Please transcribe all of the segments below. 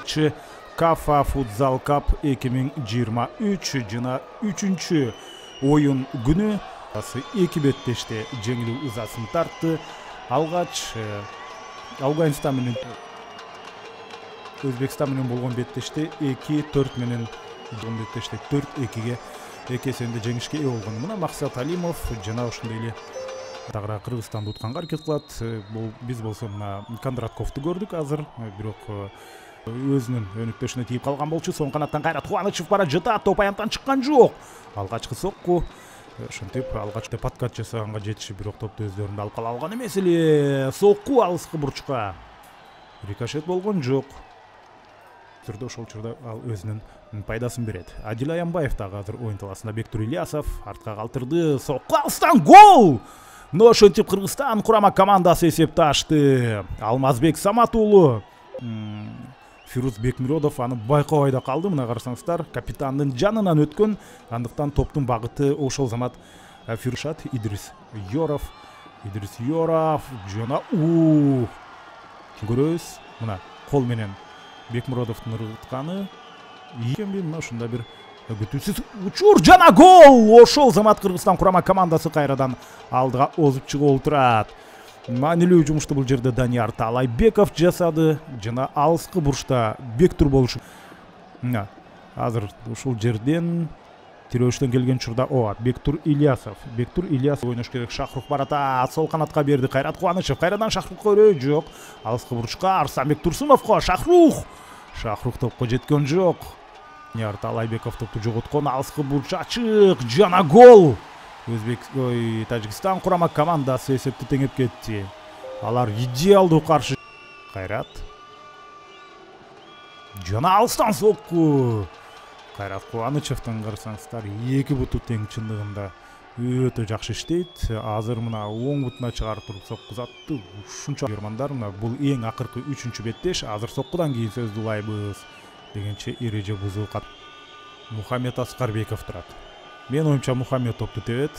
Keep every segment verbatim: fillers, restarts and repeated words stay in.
башчы Кафа Futsal Cup эки миң жыйырма үч жана үчүнчү оюн күнү эки беттеште жеңилүү ызасын тартты. Алгач Афганистан менен Өзбекстан менен болгон беттеште эки төрт менен болгон беттеште төрт экиге эки эсебинде жеңишке ээ болгон. Мына Максат Алимов жана ошондой эле дагыраак Кыргызстанды утканга аракет кылат. Бул биз болсо мына Кондратковду көрдүк азыр, бирок өзүнүн өнүктөшүнө тийип калган болчу. Соң канаттан Кайрат Кубанычев бара жатат, топ аянттан чыккан жок. Алгачкы сокку ошентип алгачкы подкат жасаганга жетиши, бирок топту өздөрүндө алып кала алган эмес эле. Сокку алыскы бурчка рикошет болгон жок. Түрдө ошол учурда ал өзүнүн пайдасын берет. Адил Аянбаев дагы азыр оюн талаасында. Бектур Ильясов артка калтырды. Сокку алыстан гол! Но ошентип Кыргызстан курама командасы эсепти ачты. Алмазбек Самат уулу Фируз Бекмиродов аны байкабай да калды. Мына карасаңыздар, капитандын жанынан өткөн. Андыктан топтун багыты ошол замат Фиршат Идрис Yorov. Идрис Yorov жана уу көрөбүз. Мына кол менен Бекмиродовдун ыргытканы. Ийгенби мына ушунда бир күтүүсүз учур жана гол! Ошол замат Кыргызстан курама командасы кайрадан алдыга озуп чыгып отурат. Маанилүү жумушту бул жерде Данияр Таалайбеков жасады жана алыскы бурчта Бектур болушу. Мына азыр ушул жерден тирөөштөн келген учурда о Бектур Ильясов. Бектур Ильясов ойнош керек. Шахрух барата сол канатка берди. Кайрат Кубанычев кайрадан Шахрухка өрөө жок. Алыскы бурчка Арсанбек Турсуновго. Шахрух. Шахрух топко жеткен жок. Данияр Таалайбеков топту жоготкон. Алыскы бурч ачык жана гол. Өзбек ой Тажикстан курама командасы эсепти теңеп кетти. Алар идеалдуу каршы. Кайрат жана алыстан сокку. Кайрат Кубанычевдин карасаңыздар эки буту тең, чындыгында өтө жакшы иштейт. Азыр мына оң бутуна чыгарып туруп соккузатты. Ушунча көрмандар, мына бул эң акыркы үчүнчү беттеш. Азыр соккудан кийин сөздү улайбыз дегенче эреже бузуу кат. Мухаммед Аскарбеков турат. Мен оюмча Мухаммед топту тебет.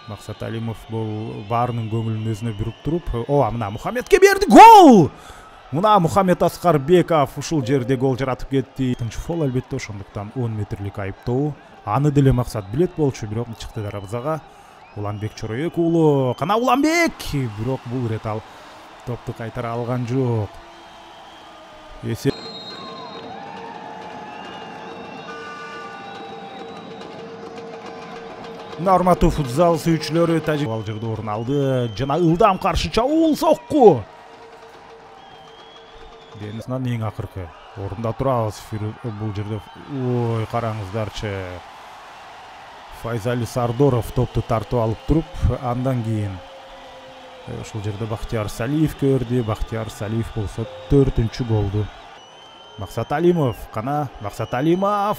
Максат Алимов бул баарынын көңүлүн өзүнө буруп туруп, о мына Мухаммедке берди, гол! Мына Мухаммед Аскарбеков ушул жерде гол жаратып кетти. Экинчи фол албетте, ошондуктан он метрлик айыптоо. Аны деле Максат билет болчу, бирок чыкты дарабызага. Уланбек Чороек уулу, кана Уланбек, бирок бул ирет ал топту кайтара алган жок. Эсе Норматуу футзал сүйүүчүлөрү тажик ал жерде орун алды жана ылдам каршы чабуул сокку. Денисинен эң акыркы орунда турабыз. Бул жерде ой караңыздарчы. Файзали Сардоров топту тартып алып туруп, андан кийин ушул жерде Бактияр Салиев көрдү. Бактияр Салиев болсо төртүнчү голду. Максат Алимов, кана Максат Алимов.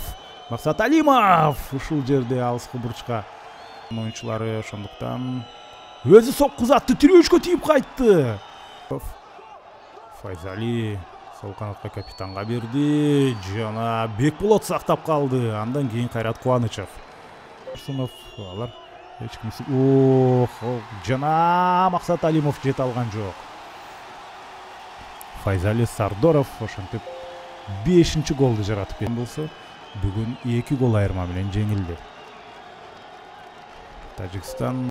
Максат Алимов ушул жерде алыскы бурчка оюнчулары, ошондуктан өзү соккузатты, тирөөшкө тийип кайтты. Файзали сол канатка капитанга берди жана Бекболот сактап калды. Андан кийин Кайрат Кубанычев. Турсунов алар эч кимси ох жана Максат Алимов жете алган жок. Файзали Сардоров ошентип бешинчи голду жаратып кеткен болсо, бүгүн эки гол айырма менен жеңилди. Тажикстан